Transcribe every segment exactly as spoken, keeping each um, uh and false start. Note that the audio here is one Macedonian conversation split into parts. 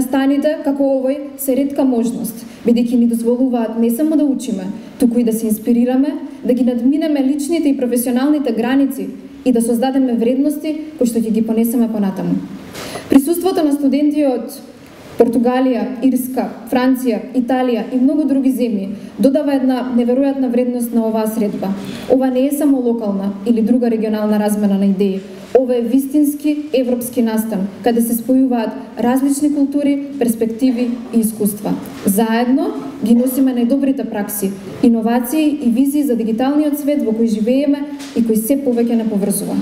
Настаните како овој се ретка можност, бидејќи ни дозволуваат не само да учиме, туку и да се инспирираме, да ги надминеме личните и професионалните граници и да создадеме вредности кои што ќе ги понесеме понатаму. Присуството на студенти од Португалија, Ирска, Франција, Италија и многу други земји додава една неверојатна вредност на оваа средба. Ова не е само локална или друга регионална размена на идеи. Ова е вистински европски настан, каде се спојуваат различни култури, перспективи и искуства. Заедно ги носиме најдобрите пракси, иновации и визии за дигиталниот свет во кој живееме и кој се повеќе не поврзува.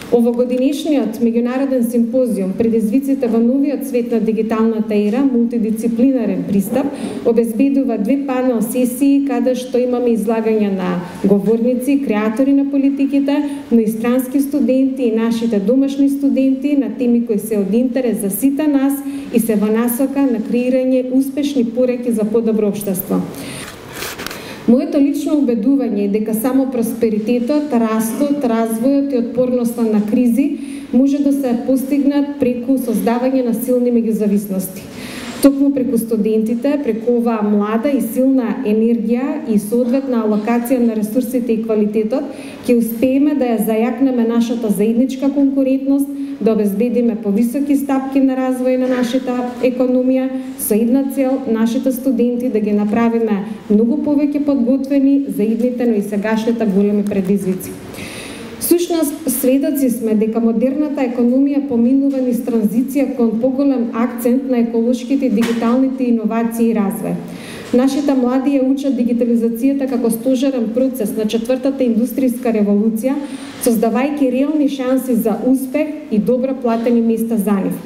Овогодинешниот меѓународен симпозиум предизвиците во новиот свет на дигиталната ера, мултидисциплинарен пристап, обезбедува две панел сесии каде што имаме излагања на говорници, креатори на политиките, но и странски студенти и нашите домашни студенти на теми кои се од интерес за сите нас и се во насока на креирање успешни пореки за подобро општество. Моето лично убедување е дека само просперитетот, растот, развојот и отпорноста на кризи може да се постигнат преку создавање на силни меѓузависности. Токму преку студентите, преку оваа млада и силна енергија и соодветна алокација на ресурсите и квалитетот, ќе успееме да ја зајакнеме нашата заедничка конкурентност, да обезбедиме повисоки стапки на развој на нашата економија, со една цел нашите студенти да ги направиме многу повеќе подготвени за идните, но и сегашните големи предизвици. Всушност, сведоци сме дека модерната економија поминува низ транзиција кон поголем акцент на еколошките и дигиталните иновации и развој. Нашите млади ја учат дигитализацијата како стожерен процес на четвртата индустријска револуција, создавајќи реални шанси за успех и добро платени места за нив.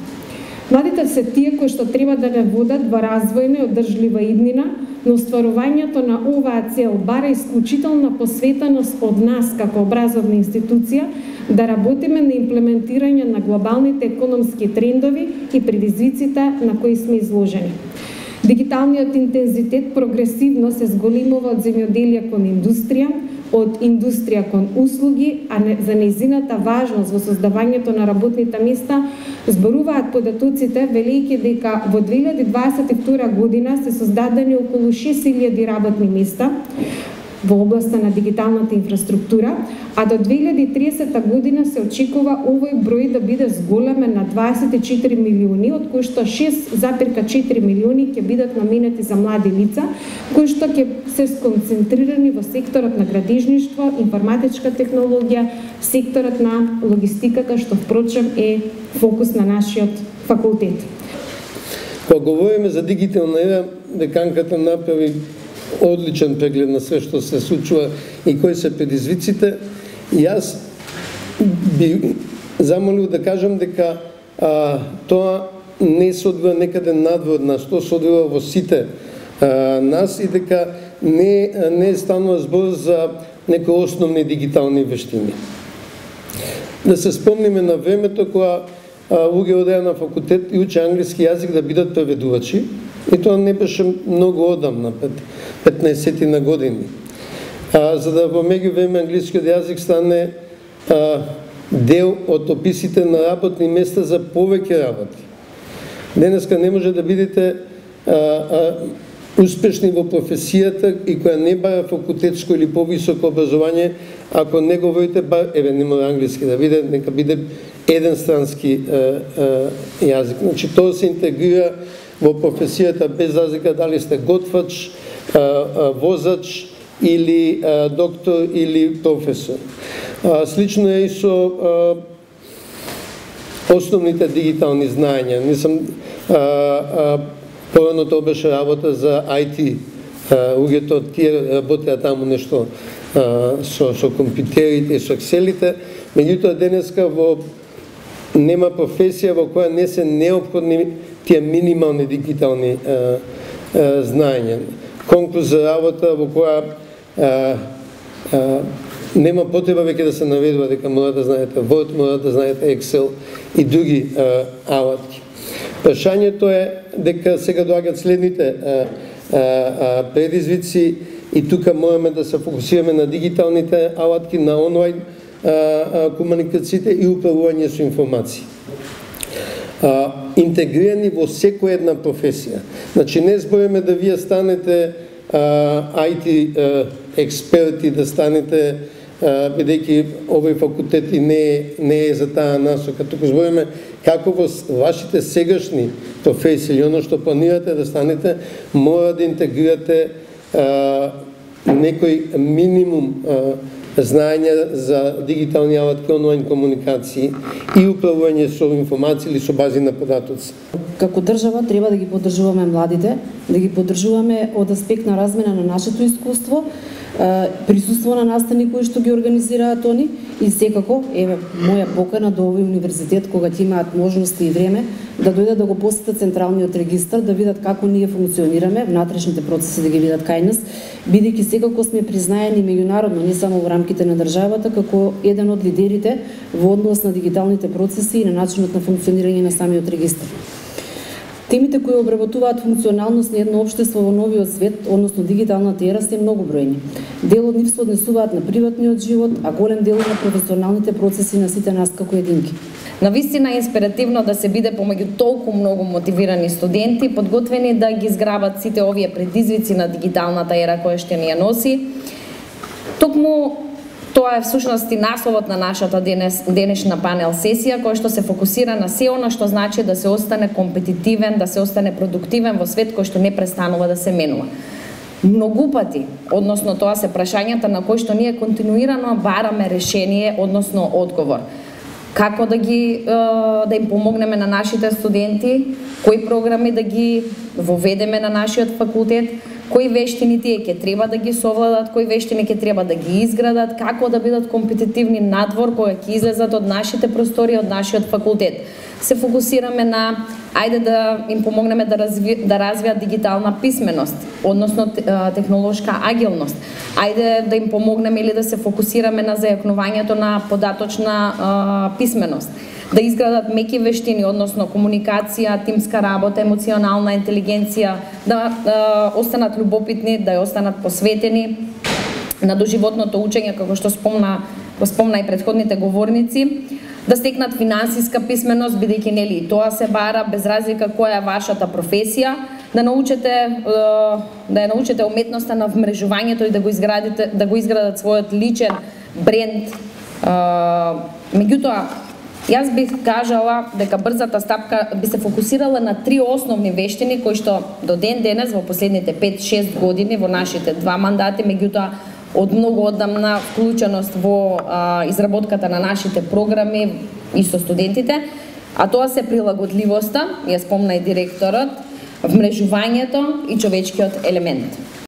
Младите се тие кои што треба да не водат во развојна и одржлива иднина, но остварувањето на оваа цел бара исклучителна посветеност од нас како образовна институција да работиме на имплементирање на глобалните економски трендови и предизвиците на кои сме изложени. Дигиталниот интензитет прогресивно се зголемува од земјоделие кон индустрија, од индустрија кон услуги, а не, за нејзината важност во создавањето на работните места зборуваат податоците, велејќи дека во две илјади дваесет и втора година се создадени околу шест илјади работни места во областа на дигиталната инфраструктура, а до две илјади и триесета година се очекува овој број да биде зголемен на дваесет и четири милиони, од кои што шест запирка четири милиони ќе бидат наменети за млади лица, кои што ќе се сконцентрирани во секторот на градежништво, информатичка технологија, секторот на логистиката, што впрочем е фокус на нашиот факултет. Кога говориме за дигитална ера, деканката направи одличен преглед на све што се случува и кои се предизвиците. И јас би замолил да кажам дека а, тоа не се одвива некаде надвор нас, тоа се одвива во сите а, нас и дека не, не станува збор за некои основни дигитални вештини. Да се спомниме на времето кога луѓе одеа на факултет и учеа англиски јазик да бидат преведувачи, и тоа не беше многу одамна, петнаесет на години. А, за да во меѓувреме англискиот јазик стане а, дел од описите на работни места за повеќе работи. Денеска не може да бидете а, а, успешни во професијата и која не бара факултетско или повисоко образование, ако не говорите бар, еве не мора англиски да биде, нека биде еден странски а, а, јазик. Значи тоа се интегрира во професијата без разлика дали сте готвач, а, а, возач или а, доктор или професор. А, слично е и со а, основните дигитални знаења. Не сум а, а, порано тоа беше работа за ай ти. Луѓето тие работеа таму нешто а, со, со компјутерите и со екселите, меѓутоа денеска во нема професија во која не се неопходни тие минимални дигитални а, а, знаења. Конкурс за работа во која а, а, нема потреба веќе да се наведува дека мора да знаете Word, мора да знаете Excel и други а, алатки. Прашањето е дека сега доаѓаат следните а, а, а, предизвици и тука можеме да се фокусираме на дигиталните алатки, на онлайн а, а, комуникациите и управување со информации. А, интегрирани во секоја една професија. Значи не збориме да вие станете ай ти експерти, да станете, бидејќи овој факултет и не е, не е за таа насока, туку збориме како во вашите сегашни професии или оно што планирате да станете, мора да интегрирате а, некој минимум а, знаење за дигитални алатки, онлайн комуникации и управување со информации или со бази на податоци. Како држава треба да ги поддржуваме младите, да ги поддржуваме од аспект на размена на нашето искуство, присуство на настани кои што ги организираат они и секако, еве, моја покана до овој универзитет, кога ќе имаат можности и време, да дојдат да го посетат централниот регистар, да видат како ние функционираме, внатрешните процеси да ги видат кај нас, бидејќи секако сме признаени меѓународно, не само во рамките на државата, како еден од лидерите во однос на дигиталните процеси и на начинот на функционирање на самиот регистар. Темите кои обработуваат функционалност на едно општество во новиот свет, односно дигиталната ера, се многу бројни. Дел од нив се однесуваат на приватниот живот, а голем дел на професионалните процеси на сите нас како единки. Навистина е инспиративно да се биде помеѓу толку многу мотивирани студенти, подготвени да ги зграбат сите овие предизвици на дигиталната ера која што ни ја носи. Токму тоа е всушност и насловот на нашата денес, денешна панел сесија, која што се фокусира на се она што значи да се остане компетитивен, да се остане продуктивен во свет кој што не престанува да се менува. Многу пати, односно тоа се прашањата на кои што ние континуирано бараме решение, односно одговор. Како да ги да им помогнеме на нашите студенти, кои програми да ги воведеме на нашиот факултет, кои вештини тие ќе треба да ги совладат, кои вештини ќе треба да ги изградат, како да бидат компетитивни надвор кога ќе излезат од нашите простори, од нашиот факултет. Се фокусираме на ајде да им помогнеме да разви, да развијат дигитална писменост, односно технолошка агилност. Ајде да им помогнеме или да се фокусираме на зајакнувањето на податочна а, писменост, да изградат меки вештини, односно комуникација, тимска работа, емоционална интелигенција, да, да останат љубопитни, да останат посветени на доживотното учење, како што спомна, го спомна и претходните говорници, да стекнат финансиска писменост, бидејќи нели и тоа се бара без разлика која е вашата професија, да научите да ја научите уметноста на вмрежувањето и да го изградите, да го изградат својот личен бренд. Меѓутоа, јас бих кажала дека брзата стапка би се фокусирала на три основни вештини кои што до ден денес во последните пет-шест години во нашите два мандати, меѓутоа од многу одамна вклученост во а, изработката на нашите програми и со студентите, а тоа се прилагодливоста, ја спомна и директорот, вмрежувањето и човечкиот елемент.